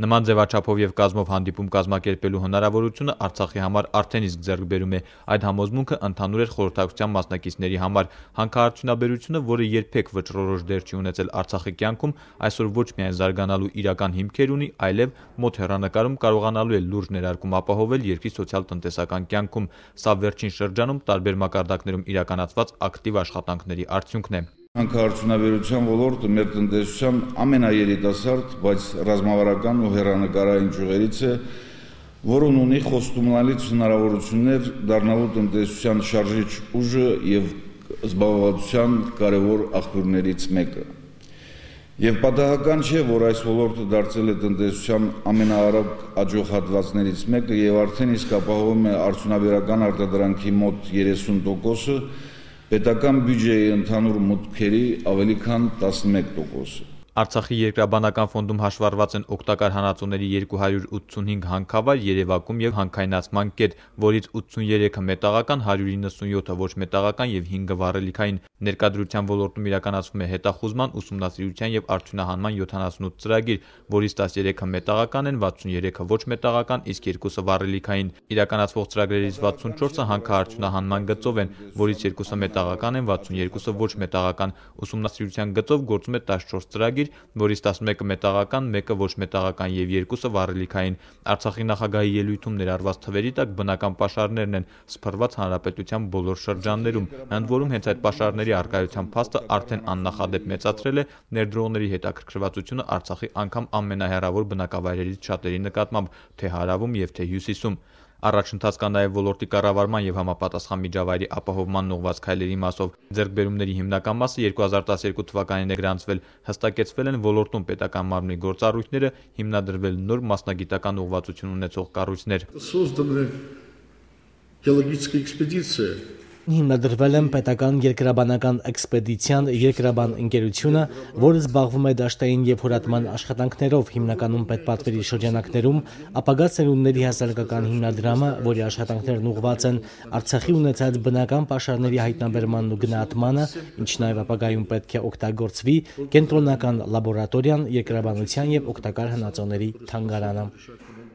Նման ձևաչափով եւ կազմով հանդիպում կազմակերպելու հնարավորությունը Արցախի համար արդեն իսկ ձեռքբերում է։ Այդ համոզմունքը ընդհանուր էր խորհրդակցության մասնակիցների համար։ Հանքարդյունաբերությունը, որը երբեք վճռորոշ դեր չի ունեցել Արցախի կյանքում, այսօր ոչ միայն զարգանալու իրական հիմքեր ունի, այլև մոտ հեռանկարում կարողանալու է լուրջ ներարկում ապահովել երկրի սոցիալ-տնտեսական կյանքում։ Սա վերջին շրջանում տարբեր մակարդակներում իրականացված ակտիվ աշխատանքների արդյունքն է։ Հանքարդյունաբերության ոլորտը մեր տնտեսության ամենաերիտասարդ, բայց ռազմավարական ու հեռանկարային ճյուղերից է, որն ունի խոստումնալից հնարավորություններ դառնալու տնտեսության շարժիչ ուժը եւ զբաղվածության կարևոր աղբյուրներից մեկը։ Եվ պատահական չէ, որ այս ոլորտը դարձել է տնտեսության ամենաարագ աճող հատվածներից մեկը եւ արդեն իսկ ապահովում է արդյունաբերական արտադրանքի մոտ 30%-ը, պետական բյուջեի ընդհանուր մուտքերի ավելի քան 11%-ը։ Արցախի երկրաբանական ֆոնդում հաշվառված են օգտակար հանածոների 285 հանքավայր, երևակում եւ հանքայնացման կետ, որից 83-ը մետաղական, 197-ը ոչ մետաղական եւ 5-ը վառելիքային։ Ներկայդրության ոլորտում իրականացվում է հետախուզման, ուսումնասիրության եւ արդյունահանման 78 ծրագիր, որից 13-ը մետաղական են, 63-ը ոչ մետաղական, իսկ 2-ը վառելիքային։ Իրականացվող ծրագրերից 64-ը հանքարդյունահանման գծով են, որից 2-ը մետաղական են, 62-ը ոչ մետաղական։ Ուսումնասիրության գծով գործում է 14 ծրագիր, որից 11-ը մետաղական, 1-ը ոչ մետաղական եւ 2-ը վառելիքային։ Արցախի նախագահի ելույթում ներառված թվերի տակ բնական պաշարներն են սփռված հանրապետության բոլոր շրջաններում, ընդ որում հենց այդ պաշարների առկայության փաստը արդեն աննախադեպ մեծացրել է ներդրողների հետաքրքրվածությունը Արցախի անգամ ամենահեռավոր բնակավայրերից շատերի նկատմամբ, թե հարավում եւ թե հյուսիսում։ Առաջընթաց կա նաև ոլորտի կառավարման եւ համապատասխան միջավայրի ապահովման ուղղված քայլերի մասով։ Ձեռքբերումների հիմնական մասը 2012 թվականին է գրանցվել, հստակեցվել են ոլորտում պետական մարմնի գործառույթները, հիմնադրվել նոր մասնագիտական ուղղվածություն ունեցող կառույցներ։ Создана геологическая экспедиция. Հիմնադրվել են պետական երկրաբանական էքսպեդիցիան երկրաբան ընկերությունը, որը զբաղվում է դաշտային եւ հորատման աշխատանքներով, հիմնականում պետպատվերի շրջանակներում, ապագա սերունդների հասարակական հիմնադրամը, որի աշխատանքներն ուղղված են Արցախի ունեցած բնական պաշարների հայտնաբերմանն ու գնահատմանը, ինչ նաեւ ապագայում պետք է օգտագործվի, կենտրոնական լաբորատորիան, երկրաբանության եւ օգտակար հնածոների թանգարանը։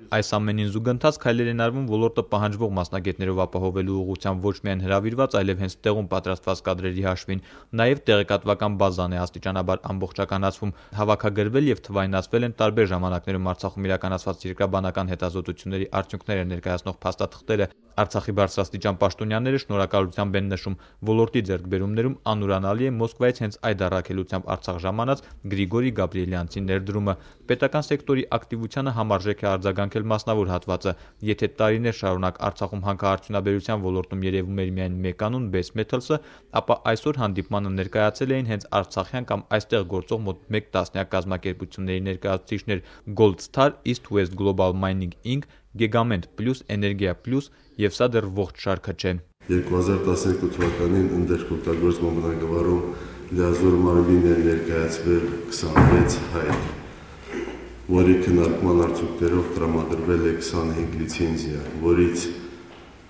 Այս ամենին զուգընթաց քայլեր են արվում ոլորտը պահանջվող մասնագետներով ապահովելու ուղղությամբ ոչ միայն հրավիրված, այլև հենց տեղում պատրաստված կադրերի հաշվին։ Նաև տեղեկատվական բազան է աստիճանաբար ամբողջականացվում, հավաքագրվել եւ թվայնացվել են տարբեր ժամանակներում Արցախում իրականացված երկրաբանական հետազոտությունների արդյունքները ներկայացնող փաստաթղթերը։ Արցախի բարձրաստիճան պաշտոնյաները շնորհակալությամբ են նշում ոլորտի ձեռքբերումներում անուրանալի է Մոսկվայից հենց այդ առաքելությամբ Արցախ ժամանած Գրիգորի Գաբրիելյանցի ներդրումը։ Պետական սեկտորի ակտիվությանը համարժեք է արձագանքել մասնավոր հատվածը։ Եթե տարիներ շարունակ Արցախում հանքարդյունաբերության ոլորտում երևում էր միայն մեկանուն Base Metals-ը, ապա այսօր հանդիպմանը ներկայացել էին հենց արցախյան կամ այստեղ գործող մոտ 1 տասնյակ կազմակերպությունների ներկայացուցիչներ՝ Gold Star, East West Global Mining Inc., Gegament Plus, Energia Plus եւ սա դեռ ողջ շարքը չէ։ 2012 թվականին ընդերքօգտագործման բնագավառում լիազոր մարմին է ներկայացվել 26 հայտ, որի քննարկման արդյունքներով տրամադրվել է 25 լիցենզիա, որից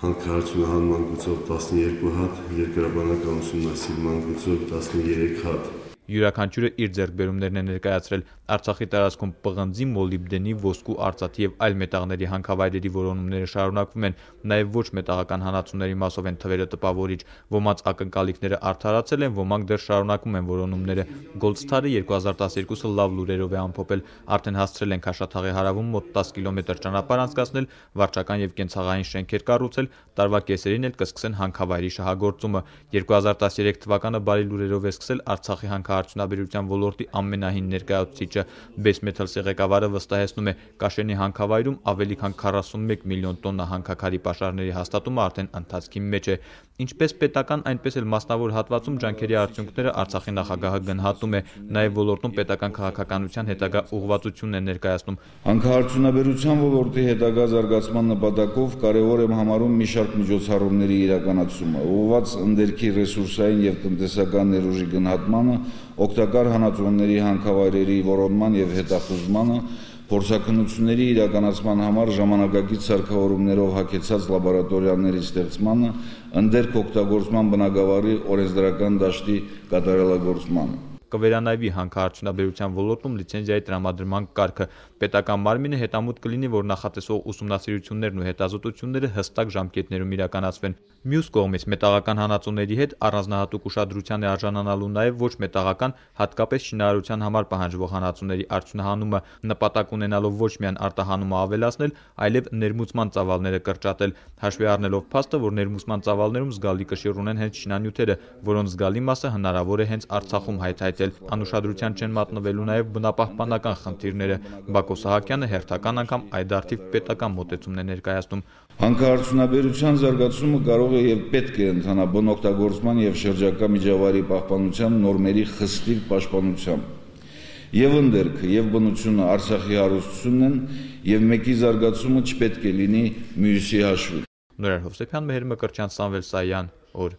հանքարդյունահանման գծով 12 հատ, երկրաբանական ուսումնասիրման գծով 13 հատ։ Յուրաքանչյուրը իր ձեռքբերումներն է ներկայացրել Արցախի տարածքում պղնձի, մոլիբդենի, ոսկու, արծաթի եւ այլ մետաղների հանքավայրերի որոնումները շարունակվում են, նաեւ ոչ մետաղական հանածոների մասով են թվերը տպավորիչ, ոմանց ակնկալիքները արդարացել են, ոմանք դեռ շարունակում են որոնումները։ Gold Star-ը 2012-ը լավ լուրերով է ամփոփել, արդեն հասցրել են Քաշաթաղի հարավում մոտ 10 կիլոմետր ճանապարհ անցկացնել, վարչական եւ կենցաղային շենքեր կառուցել, տարվա կեսերին էլ կսկսեն հանքավայրի շահագործումը։ 2013 թվականը բարի լուրերով է սկսել Արցախի հանքարդյունաբերության ոլորտի ամենահին ներկայացուցիչը Base Metals-ի ղեկավարը վստահեցնում է, Կաշենի հանքավայրում ավելի քան 41 միլիոն տոննա հանքաքարի պաշարների հաստատումը արդեն ընթացքի մեջ է։ Ինչպես պետական, այնպես էլ մասնավոր հատվածում ջանքերի արդյունքները Արցախի նախագահը գնահատում է, նաև ոլորտում պետական քաղաքականության հետագա ուղղվածությունն է ներկայացնում։ Հանքարդյունաբերության ոլորտի հետագա զարգացման նպատակով կարևոր եմ համարում մի շարք միջոցառումների իրականացումը, ուղղված ընդերքի ռեսուրսային եւ տնտեսական ներուժի գնահատմանը, օգտակար հանածոների հանքավայրերի որոնման եւ հետախուզմանը, փորձաքննությունների իրականացման համար ժամանակակից սարքավորումներով հագեցած լաբորատորիաների ստեղծմանը, ընդերք օգտագործման բնագավառի օրենսդրական դաշտի կատարելագործմանը։ կվերանայվի հանքարդյունաբերության ոլորտում լիցենզիայի տրամադրման կարգը։ Պետական մարմինը հետամուտ կլինի, որ նախատեսվող ուսումնասիրություններն ու հետազոտությունները հստակ ժամկետներում իրականացվեն։ Մյուս կողմից մետաղական հանածոների հետ առանձնահատուկ ուշադրության է արժանանալու նաև ոչ մետաղական, հատկապես շինարարության համար պահանջվող հանածոների արդյունահանումը, նպատակ ունենալով ոչ միայն արտահանումը ավելացնել, այլև ներմուծման ծավալները կրճատել, հաշվի առնելով փաստը, որ ներմուծման ծավալներում զգալի կշիռ ունեն հենց շինանյութերը, որոնց զգալի մասը հնարավոր է հենց Արցախում հայթայթել։ Անուշադրության չեն մատնվելու նաև բնապահպանական խնդիրները։ Բակո Սահակյանը հերթական անգամ այդ արդիվ պետական մոտեցումն է ներկայացնում։ Հանքարդյունաբերության զարգացումը կարող է եւ պետք է ընթանա բնօգտագործման եւ շրջակա միջավայրի պահպանության նորմերի խստիվ պաշտպանությամբ։ Եվ ընդերքը եւ բնությունը Արցախի հարստությունն են եւ մեկի զարգացումը չպետք է լինի մյուսի հաշվին։ Նորայր Հովսեփյան, Մեհեր Մկրտչյան, Սամվել Սայան, օր։